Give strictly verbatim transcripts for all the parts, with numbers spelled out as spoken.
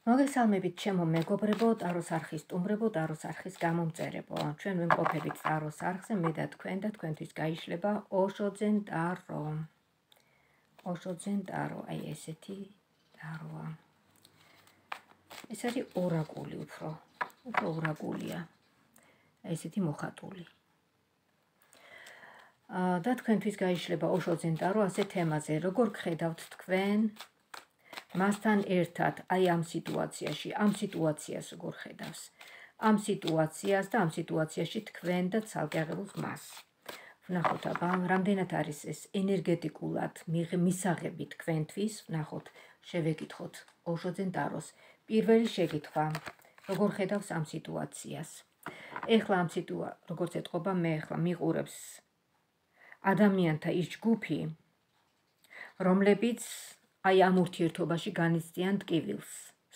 მოგესალმებით ჩემო მეგობრებო, ტაროს არხის სტუმრებო, ტაროს არხის გამომწერებო. ჩვენ ვიმყოფებით ტაროს არხზე, მე და თქვენ და თქვენთვის გაიშლება ოშოძენ ტარო. ოშოძენ ტარო, აი ესეთი ტაროა. ეს არის ორაკული უფრო, უფრო ორაკულია. აი ესეთი მოხატული. და თქვენთვის გაიშლება ოშოძენ ტარო ასე თემაზე, როგორ გხედავთ თქვენ მასთან ერთად, აი ამ სიტუაციაში, ამ სიტუაციას როგორ ხედავს, ამ სიტუაციას და ამ სიტუაციაში თქვენ და ცალკე აღებულს მას. ვნახოთ აბა, რამდენად არის ეს ენერგეტიკულად მისაღები თქვენთვის, ვნახოთ, შევეკითხოთ ოშოძენ ტაროს. პირველი შეკითხვა, როგორ ხედავს ამ სიტუაციას. ეხლა ამ სიტუაციას, როგორც ეთყობა, მე ეხლა მიყურებს ადამიანთა ის ჯგუფი, რომლებიც აი ამ ურთიერთობაში განიცდიან ტკივილს,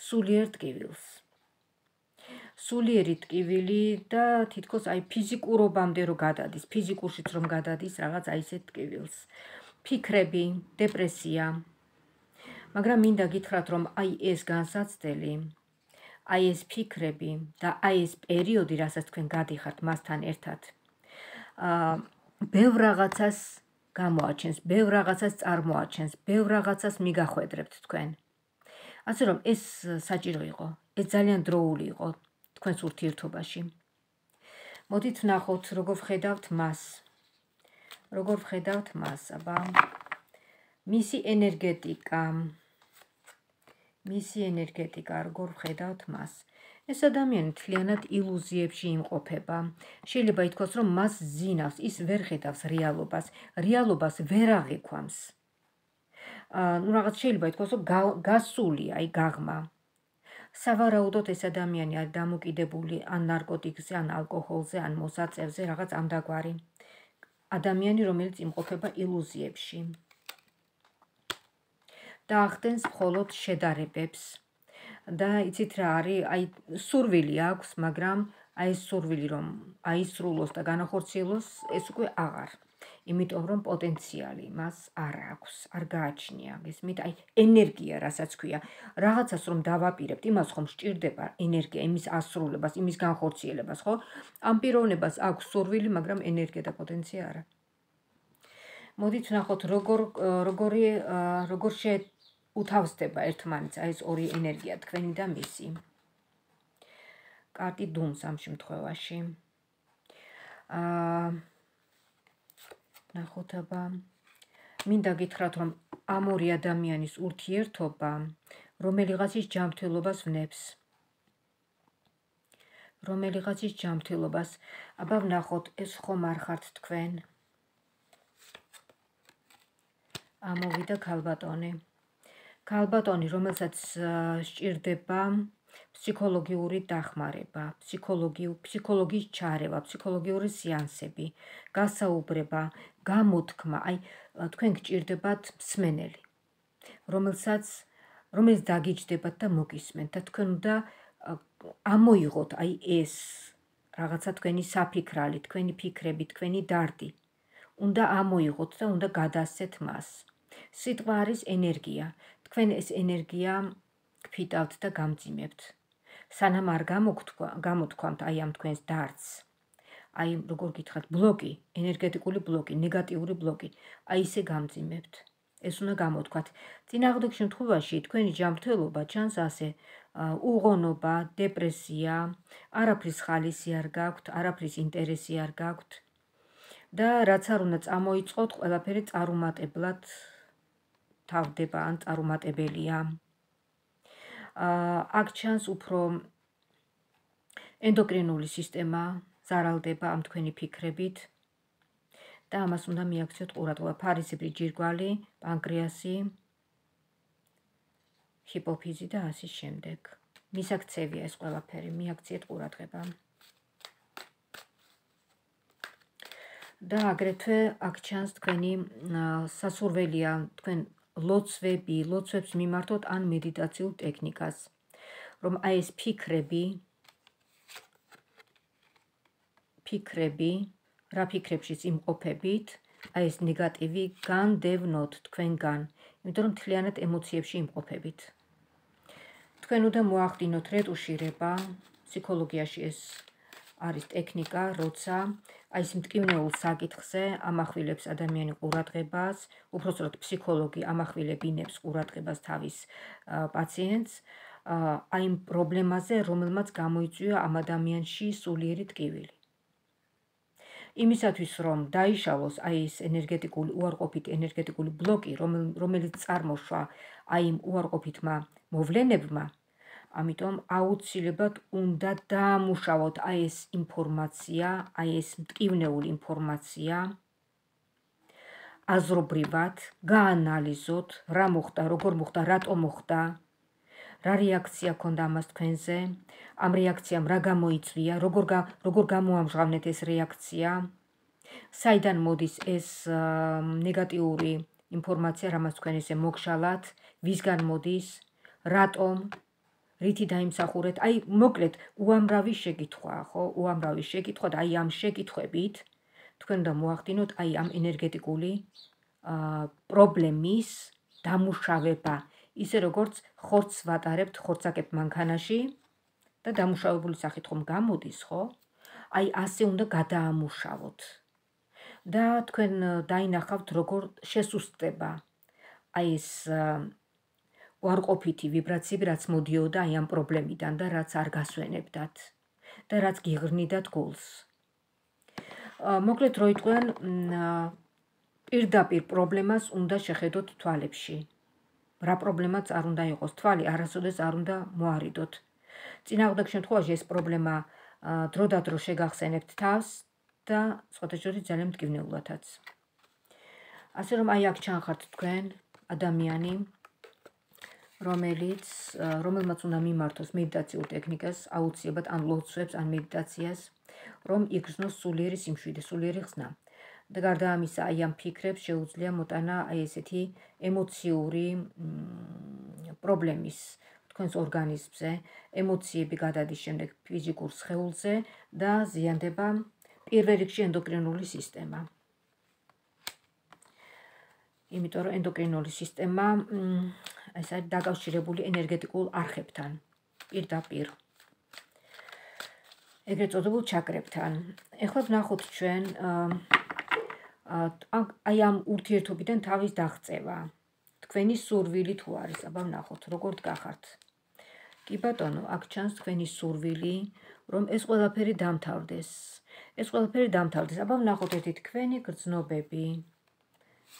სულიერ ტკივილს. სულიერი ტკივილი და თითქოს აი ფიზიკურობამდე რომ გადადის, ფიზიკურშიც რომ გადადის რაღაც აი ესეთ ტკივილს. ფიქრები, დეპრესია. მაგრამ მინდა გითხრათ, რომ აი ეს განსაცდელი, აი ეს ფიქრები და აი ეს პერიოდი, რასაც თქვენ გადიხართ მასთან ერთად, აა ბევრ რაღაცას გამოაჩენს, ბევრ რაღაცას წარმოაჩენს, ბევრ რაღაცას მიგახვედრებთ თქვენ. ასე რომ ეს საჭირო იყო, ეს ძალიან დროული იყო თქვენს ურთიერთობაში. მოდით ვნახოთ, როგორ ვხედავთ მას. როგორ ვხედავთ მას, აბა. მისი ენერგეტიკა. მისი ენერგეტიკა, როგორ ვხედავთ მას. ეს ადამიანი მთლიანად ილუზიებში იმყოფება. შეიძლება ითქვას, რომ მას ზინავს, ის ვერ ხედავს რეალობას, რეალობას ვერ აღიქვამს. ნუ რაღაც შეიძლება ითქვას, რომ გასულია, აი გაღმა. სავარაუდოდ ეს ადამიანი არის დამოკიდებული ან ნარკოტიკზე, ან ალკოჰოლზე, ან მოსაწევზე, რაღაც ამდაგვარი. ადამიანი, რომელიც იმყოფება ილუზიებში. და ახდენს მხოლოდ შედარებებს. და იცით რა არის, აი სურვილი აქვს, მაგრამ აი ეს სურვილი რომ აისრულოს და განახორციელოს, ეს უკვე აღარ. იმიტომ რომ პოტენციალი მას არ აქვს, არ გააჩნია. გესმით, აი ენერგია, რასაც ქვია, რაღაცას რომ დავაპირებთ, იმას ხომ სჭირდება ენერგია, იმის ასრულებას, იმის განხორციელებას, ხო? ამ პიროვნებას აქვს სურვილი, მაგრამ ენერგია და პოტენცია არა. მოდით ვნახოთ, როგორ როგორი როგორ შე უთავსდება ერთმანეთს აი ეს ორი ენერგია, თქვენი და მისი. კარტი დუმს ამ შემთხვევაში. აა ნახოთ აბა. მინდა გითხრათ, რომ ამ ორი ადამიანის ურთიერთობა რომელიღაცის ჯანმრთელობას ვნებს. რომელიღაცის ჯანმრთელობას. აბა ვნახოთ, ეს ხომ არ ხართ თქვენ. ამოვიდა ქალბატონი. ქალბატონი, რომელსაც სჭირდება ფსიქოლოგიური დახმარება, ფსიქოლოგიის ჩარევა, ფსიქოლოგიური სეანსები, გასაუბრება, გამოთქმა, აი თქვენ გჭირდებათ მსმენელი, რომელსაც რომელიც დაგიჯდებათ და მოგისმენთ და თქვენ უნდა ამოიღოთ აი ეს რაღაცა თქვენი საფიქრალი, თქვენი ფიქრები, თქვენი დარდი. უნდა ამოიღოთ და უნდა გადასცეთ მას. სიტყვა არის ენერგია. თქვენ ეს ენერგია გფიტავთ და გამძიმებთ. სანამ არ გამოთქვამთ აი ამ თქვენს დარდს. აი როგორ გითხრათ, ბლოკი, ენერგეტიკული ბლოკი, ნეგატიური ბლოკი, აი ისე გამძიმებთ. ეს უნდა გამოთქვათ. წინააღმდეგ შემთხვევაში თქვენი ჯანმრთელობა ჩანს ასე, უღონობა, დეპრესია, არაფრის ხალისი არ გაქვთ, არაფრის ინტერესი არ გაქვთ. და რაც არ უნდა წამოიწყოთ, ყველაფერი წარუმატებლად თავდება ან წარუმატებელია. აქ ჩანს უფრო ენდოკრინული სისტემა ზარალდება ამ თქვენი ფიქრებით და ამას უნდა მიაქციოთ ყურადღება. ფარისებრი ჯირკვალი, პანკრეასი, ჰიპოფიზი და ასე შემდეგ. მისაქცევია ეს ყველაფერი, მიაქციეთ ყურადღება. და აგრეთვე აქ ჩანს თქვენი სასურველია, თქვენ ლოცვები, ლოცვებს მიმართოთ ან მედიტაციულ ტექნიკას, რომ აი ეს ფიქრები, ფიქრები, რა ფიქრებშიც იმყოფებით, აი ეს ნეგატივი განდევნოთ თქვენგან, იმიტომ რომ მთლიანად ემოციებში იმყოფებით. თქვენ უნდა მოახდინოთ რეტუშირება, ფსიქოლოგიაში ეს არის ტექნიკა, როცა აი ეს მტკივნეულ საკითხზე ამახვილებს ადამიანი ყურადღებას, უпростоროდ ფსიქოლოგი ამახვილებინებს ყურადღებას თავის პაციენტს, აი იმ პრობლემაზე, რომელმაც გამოიწვია ამ ადამიანში სულიერი ტკივილი. იმისათვის, რომ დაიშალოს აი ეს ენერგეტიკული უარყოფითი ენერგეტიკული ბლოკი, რომელიც წარმოშვა აი იმ უარყოფითმა მოვლენებმა, ამიტომ აუცილებლად უნდა დაამუშავოთ აი ეს ინფორმაცია, აი ეს მტკივნეული ინფორმაცია, აზრობრივად, გაანალიზოთ, რა მოხდა, როგორ მოხდა, რატომ მოხდა, რა რეაქცია ქონდა ამას თქვენზე, ამ რეაქციამ რა გამოიწვია, როგორ როგორ გამოამჟღავნეთ ეს რეაქცია, საიდან მოდის ეს ნეგატიური ინფორმაცია, რამაც თქვენ ესე მოგშალათ, ვისგან მოდის, რატომ, რითი დაიმსახურეთ, აი მოკლედ უამრავი შეკითხვაა, ხო? უამრავი შეკითხვა და აი ამ შეკითხვებით თქვენ უნდა მოახდინოთ აი ამ ენერგეტიკული პრობლემის დამუშავება, ისე როგორც ხორცს ვატარებთ ხორცაკებ მანქანაში და დამუშავებული სახით ხომ გამოდის, ხო? აი ასე უნდა გადაამუშავოთ. და თქვენ დაინახავთ, როგორ შესუსტდება აი ეს უარყოფითი ვიბრაციები, რაც მოდიოდა აი ამ პრობლემიდან და რაც არ გასვენებდათ და რაც გიღრნიდათ გულს. მოკლედ რო იტყვიან, პირდაპირ პრობლემას უნდა შეხედოთ თვალებში. რა პრობლემაც არ უნდა იყოს, თვალი არასოდეს არ უნდა მოარიდოთ. წინააღმდეგ შემთხვევაში ეს პრობლემა დროდადრო შეგახსენებთ თავს და სხვათა შორის ძალიან მტკივნეულადაც. ასე რომ აი აქ ჩანხართ თქვენ ადამიანი, რომელიც რომელმაც უნდა მიმართოს მედიტაციურ ტექნიკას, აუცილებლად ან ლოცვებს, ან მედიტაციას, რომ იგრძნოს სულიერი სიმშვიდე, სულიერი ხსნა. და გარდა ამისა, აი ამ ფიქრებს შეუძლია მოტანა აი ესეთი ემოციური პრობლემის თქვენს ორგანიზმზე, ემოციები გადადის შემდეგ ფიზიკურ სხეულზე და ზიანდება პირველ რიგში ენდოკრინული სისტემა. იმიტომ რომ ენდოკრინული სისტემა ეს არის დაკავშირებული ენერგეტიკულ არხებთან, პირდაპირ. ეგრეთ წოდებულ ჩაკრებთან. ეხლა ვნახოთ ჩვენ აი ამ ურთიერთობიდან თავის დაღწევა. თქვენი სურვილი თუ არის, აბა ვნახოთ, როგორ დგახართ. კი ბატონო, აქ ჩანს თქვენი სურვილი, რომ ეს ყველაფერი დამთავრდეს. ეს ყველაფერი დამთავრდეს. აბა ვნახოთ ერთი თქვენი გრძნობები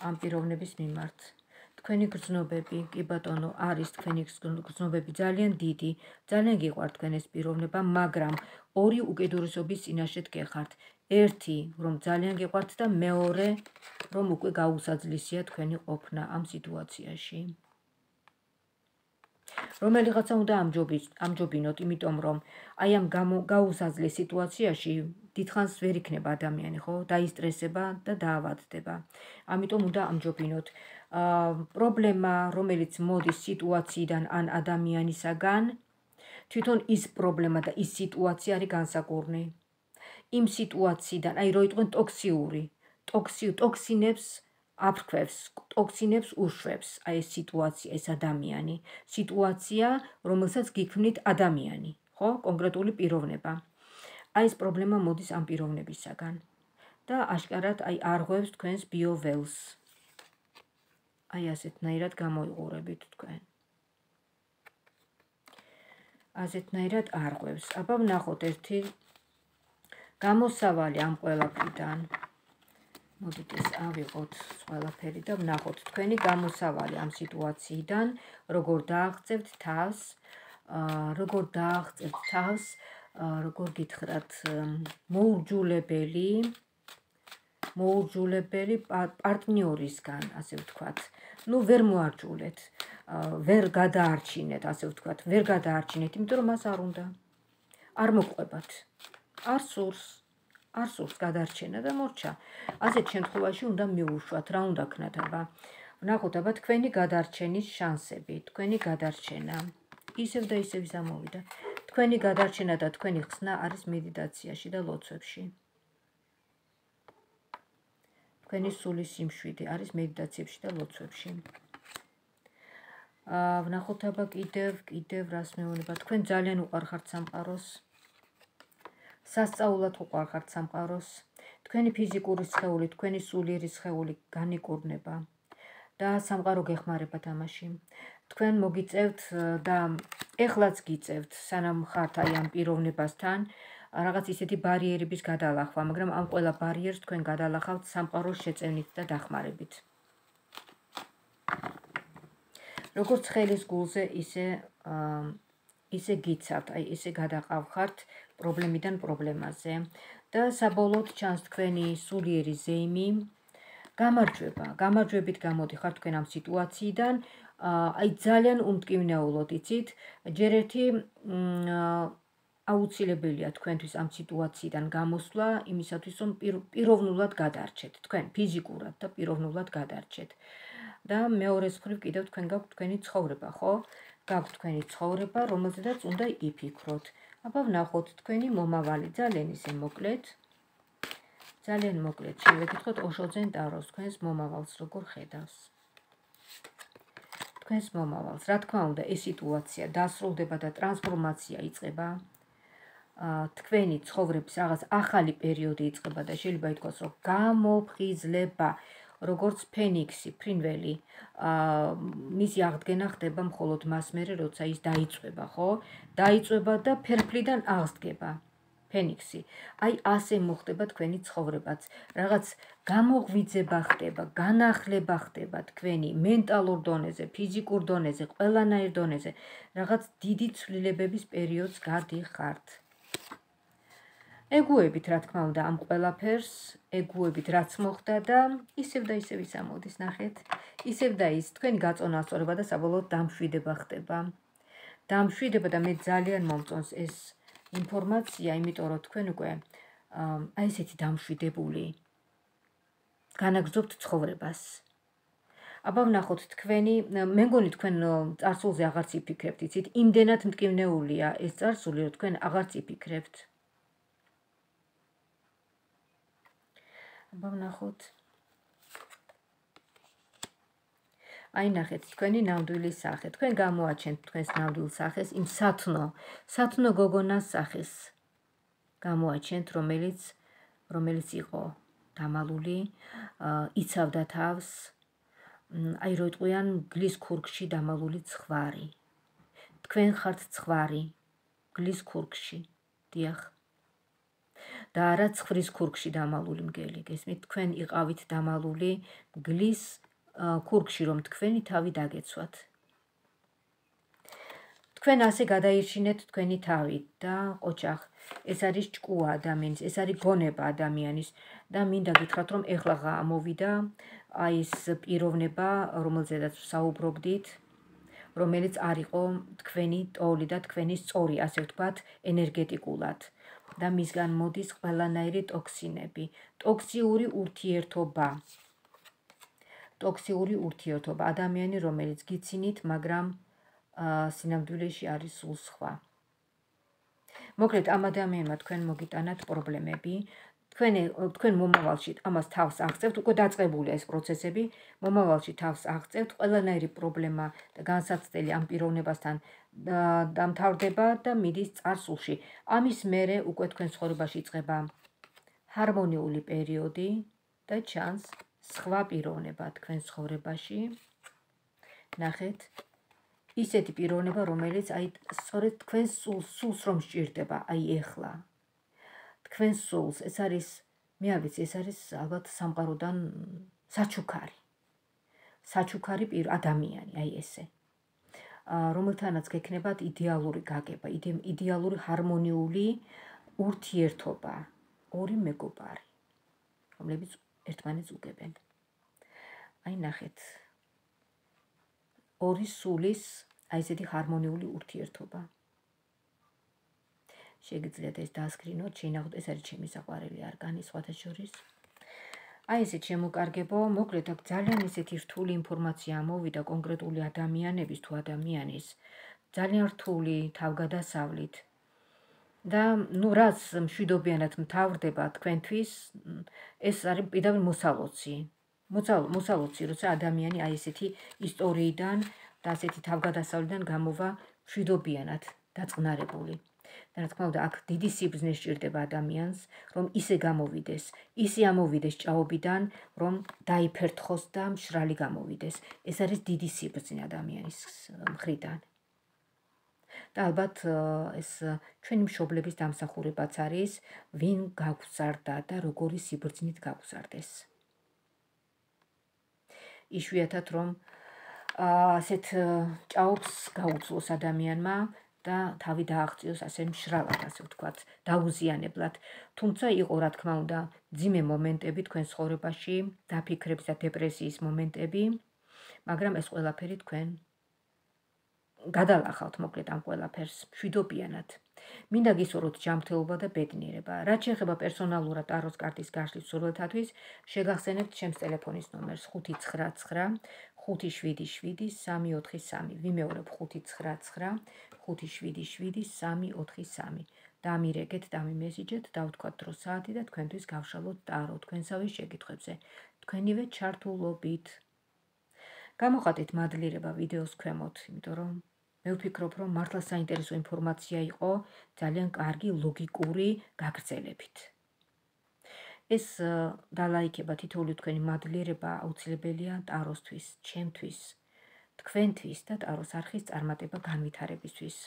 ამ პიროვნების მიმართ. თქვენი გრძნობები, კი ბატონო, არის თქვენი გრძნობები ძალიან დიდი, ძალიან გიყვართ თქვენ ეს პიროვნება, მაგრამ ორი უკიდურესობის წინაშე დგეხართ. ერთი, რომ ძალიან გიყვართ და მეორე, რომ უკვე გაუსაძლისია თქვენი ყოფნა ამ სიტუაციაში. რომელიღაცა უნდა ამჯობინოთ, იმიტომ რომ აი ამ გაუსაძლეს სიტუაციაში დიდხანს ვერ იქნება ადამიანი, ხო? დაისტრესება და დაავადდება. ამიტომ უნდა ამჯობინოთ. პრობლემა, რომელიც მოდის სიტუაციიდან ან ადამიანისაგან, თვითონ ის პრობლემა და ის სიტუაცია არის განსაკურნი. იმ სიტუაციიდან, აი რო იტყვენ ტოქსიური, ტოქსინებს აფრქვევს, ტოქსინებს უშვებს, აი ეს სიტუაცია, ეს ადამიანი, სიტუაცია, რომელსაც გიქმნით ადამიანი, ხო? კონკრეტული პიროვნება. აი ეს პრობლემა მოდის ამ პიროვნებისაგან და აშკარად აი არღვევს თქვენს ბიოველს. აი ასეთნაირად გამოიყურებით თქვენ. ასეთნაირად არღვევს. აბა ვნახოთ ერთი გამოსავალი ამ ყველაფრიდან. მოდით ეს ავიღოთ ყველაფერი და ვნახოთ თქვენი გამოსავალი ამ სიტუაციიდან, როგორ დააღწევთ თავს, როგორ დააღწევთ თავს, როგორ გითხრათ, მოურჯულებელი, მოურჯულებელი პარტნიორისგან, ასე ვთქვათ. ნუ ვერ მოარჯულეთ, ვერ გადაარჩინეთ, ასე ვთქვათ, ვერ გადაარჩინეთ, იმიტომ რომ მას არ უნდა. არ მოყვებათ. არ სურს. არ სურს გადარჩენა და მორჩა. ასეთ შემთხვევაში უნდა მიუშვათ, რა უნდა ქნათ, აბა. ვნახოთ, აბა თქვენი გადარჩენის შანსები, თქვენი გადარჩენა. ისევ და ისევ ამოვიდა. თქვენი გადარჩენა და თქვენი ხსნა არის მედიტაციაში და ლოცვებში. თქვენი სულის სიმშვიდე არის მედიტაციებში და ლოცვებში. ვნახოთ აბა კიდევ, კიდევ რას მეუბნება. თქვენ ძალიან უყვარხართ სამყაროს. სასწაულად უყვარხართ სამყაროს. თქვენი ფიზიკური სხეული, თქვენი სულიერი სხეული განიკურნება და სამყარო გეხმარებათ ამაში. თქვენ მოგიწევთ და ეხლაც გიწევთ, სანამ ხართ აი ამ პიროვნებასთან, რაღაც ისეთი ბარიერების გადალახვა, მაგრამ ამ ყველა ბარიერს თქვენ გადალახავთ სამყაროს შეწევნით და დახმარებით. როგორც ხელის გულზე, ისე ისე გიცავთ, აი ესე გადაყავხართ პრობლემიდან პრობლემაზე და საბოლოოდ ჩანს თქვენი სულიერი ზეიმი გამარჯვება, გამარჯვებით გამოდიხართ თქვენ ამ სიტუაციიდან, აი ძალიან უმტკივნეულოდ იცით, ჯერ ერთი აუცილებელია თქვენთვის ამ სიტუაციიდან გამოსვლა, იმისათვის რომ პიროვნულად გადარჩეთ, თქვენ ფიზიკურად და პიროვნულად გადარჩეთ. და მეორეს მხრივ კიდევ თქვენ გაქვთ თქვენი ცხოვრება, ხო? გაქვთ თქვენი ცხოვრება, რომელზედაც უნდა იფიქროთ. აბა ვნახოთ თქვენი მომავალი, ძალიან ისე მოკლედ. ძალიან მოკლედ შევეკითხოთ ოშოძენ ტაროს თქვენს მომავალს როგორ ხედავს. თქვენს მომავალს, რა თქმა უნდა, ეს სიტუაცია დასრულდება და ტრანსფორმაცია იწყება. თქვენი ცხოვრების რაღაც ახალი პერიოდი იწყება და შეიძლება ითქვას, რომ გამოფხიზლება, როგორც ფენიქსი, ფრინველი, მისი აღდგენა ხდება მხოლოდ მას მერე, როცა ის დაიწვება, ხო? დაიწვება და ფერფლიდან აღსდგება. ფენიქსი. აი ასე მოხდება თქვენი ცხოვრებაც. რაღაც გამოღვიძება ხდება, განახლება ხდება თქვენი მენტალურ დონეზე, ფიზიკურ დონეზე, ყველანაირ დონეზე. რაღაც დიდი ცვლილებების პერიოდს გადიხართ. ეგუებით, რა თქმა უნდა, ამ ყველაფერს, ეგუებით, რაც მოხდა და ისევ და ისევ ის ამოდის, ნახეთ. ისევ და ის თქვენი გაწონა ასწორება და საბოლოოდ დამშვიდება ხდება. დამშვიდება და მე ძალიან მომწონს ეს ინფორმაცია, იმიტომ რომ თქვენ უკვე აი ესეთი დამშვიდებული განაგრძობთ ცხოვრებას. აბა ვნახოთ თქვენი, მე მგონი თქვენ წარსულზე აღარც იფიქრებთ, იცით, იმდენად მტკივნეულია ეს წარსული, რომ თქვენ აღარც იფიქრებთ. აბა ვნახოთ. აი ნახეთ, თქვენი ნამდვილი სახე. თქვენ გამოაჩენთ თქვენს ნამდვილ სახეს, იმ სათნო, სათნო გოგონას სახეს გამოაჩენთ, რომელიც რომელიც იყო დამალული, იცავდა თავს, აი რო იტყვიან გლის ქურგში დამალული ცხვარი. თქვენ ხართ ცხვარი, გლის ქურგში, დიახ. და არა ცხვრის ქურგში დამალული მგელი, გესმით, თქვენ იყავით დამალული გლის ქურგში, რომ თქვენი თავი დაგეცვათ. თქვენ ასე გადაირჩინეთ თქვენი თავი და ოჩახ, ეს არის ჭკუა ადამიანის, ეს არის გონება ადამიანის და მინდა გითხრათ, რომ ეხლა ამოვიდა აი ეს პიროვნება, რომელზედაც საუბრობდით, რომელიც არ იყო თქვენი ტოლი და თქვენი სწორი, ასე ვთქვათ, ენერგეტიკულად. და მისგან მოდის ყველანაირი ტოქსინები, ტოქსიური ურთიერთობა. ტოქსიური ურთიერთობა, ადამიანი, რომელიც გიცინით, მაგრამ სინამდვილეში არის სულ სხვა. მოკლედ, ამ ადამიანმა თქვენ მოგიტანათ პრობლემები, თქვენ თქვენ მომავალში ამას თავს აღწევთ, უკვე დაწყებულია ეს პროცესები, მომავალში თავს აღწევთ, ყველანაირი პრობლემა და განსაცდელი ამ პიროვნებასთან დამთავრდება და მიდის წარსულში. ამის მერე უკვე თქვენ ცხოვრებაში იწყება ჰარმონიული პერიოდი და ჩანს სხვა პიროვნება თქვენ ცხოვრებაში. ნახეთ, ისეთი პიროვნება, რომელიც აი სწორედ თქვენ სულს რომ სჭირდება, აი ეხლა. თქვენ სულს, ეს არის, მე არ ვიცი, ეს არის ალბათ სამყაროდან საჩუქარი. საჩუქარი ადამიანი, აი ესე. რომელთანაც გექნებათ იდეალური გაგება, იდეალური ჰარმონიული ურთიერთობა, ორი მეგობარი, რომლებიც ერთმანეთს უგებენ. აი ნახეთ, ორი სულის, აი ესეთი ჰარმონიული ურთიერთობა. შეგიძლიათ ეს დაასკრინოთ, შეინახოთ, ეს არის ჩემი საყვარელი არგანი სხვათა შორის. აი ესეთ შემოკარგებო, მოკლედ აქ ძალიან ესეთი რთული ინფორმაცია ამოვიდა კონკრეტული ადამიანების თუ ადამიანის, ძალიან რთული თავგადასავლით. და ნუ რაც მშვიდობიანად მთავრდება თქვენთვის, ეს არის პირდაპირ მოსალოცი. მოსალოცი, როცა ადამიანი აი ესეთი ისტორიიდან და ასეთი თავგადასავლიდან გამოვა მშვიდობიანად დაწყნარებული. და რა თქმა უნდა, აქ დიდი სიბრძნე სჭირდება ადამიანს, რომ ისე გამოვიდეს, ისე ამოვიდეს ჭაობიდან, რომ დაიფერთხოს და მშრალი გამოვიდეს. ეს არის დიდი სიბრძნე ადამიანის მხრიდან. და ალბათ ეს ჩვენი მშობლების დამსახურებაც არის, ვინ გაგზარდა და როგორი სიბრძნით გაგზარდეს. იშვიათად რომ ასეთ ჭაობს გაუძლოს ადამიანმა და თავი დააღწიოს ასე მშრალად, ასე ვთქვათ, დაუზიანებლად. თუმცა იყო, რა თქმა უნდა, მძიმე მომენტები თქვენ ცხოვრებაში, დაფიქრების და დეპრესიის მომენტები, მაგრამ ეს ყველაფერი თქვენ გადალახავთ მოკლედ ამ ყველაფერს მშვიდობიანად. მინდა გისურვოთ ჯანმრთელობა და ბედნიერება. რაც შეეხება პერსონალურად ტაროს კარტის გაშლის მსურველთათვის, შეგახსენებთ ჩემს ტელეფონის ნომერს ხუთი ცხრა ცხრა ხუთი შვიდი შვიდი სამი ოთხი სამი. ვიმეორებ ხუთი ცხრა ცხრა ხუთი შვიდი შვიდი სამი ოთხი სამი. დამირეკეთ, დამიმესიჯეთ, დავთქვათ დრო საათი და თქვენთვის გავშალოთ ტარო თქვენსავე შეკითხვებზე. თქვენივე ჩართულობით. გამოხატეთ მადლიერება ვიდეოს ქვემოთ, იმიტომ რომ მე ვფიქრობ, რომ მართლა საინტერესო ინფორმაცია იყო ძალიან კარგი ლოგიკური გაგრძელებით. ეს დალაიქება თითოეული თქვენი მადლიერება აუცილებელია ტაროსთვის, ჩემთვის, თქვენთვის და ტაროს არხის წარმატება განვითარებისთვის.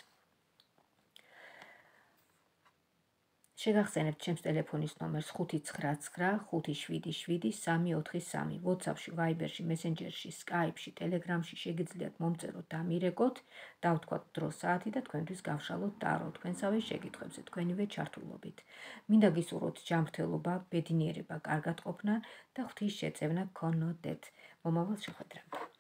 შეგახსენებთ ჩემს ტელეფონის ნომერს ხუთი ცხრა ცხრა ხუთი შვიდი შვიდი სამი ოთხი სამი. WhatsApp-ში, Viber-ში, Messenger-ში, Skype-ში, Telegram-ში შეგიძლიათ მომწეროთ და მირეკოთ, დავთქვათ დრო საათი და თქვენთვის გავშალოთ ტარო თქვენსავე შეკითხვებზე, თქვენივე ჩართულობით. მინდა გისურვოთ ჯანმრთელობა, ბედნიერება, კარგად ყოფნა და ღვთის შეწევნა გქონოდეთ. მომავალ შეხვედრამდე.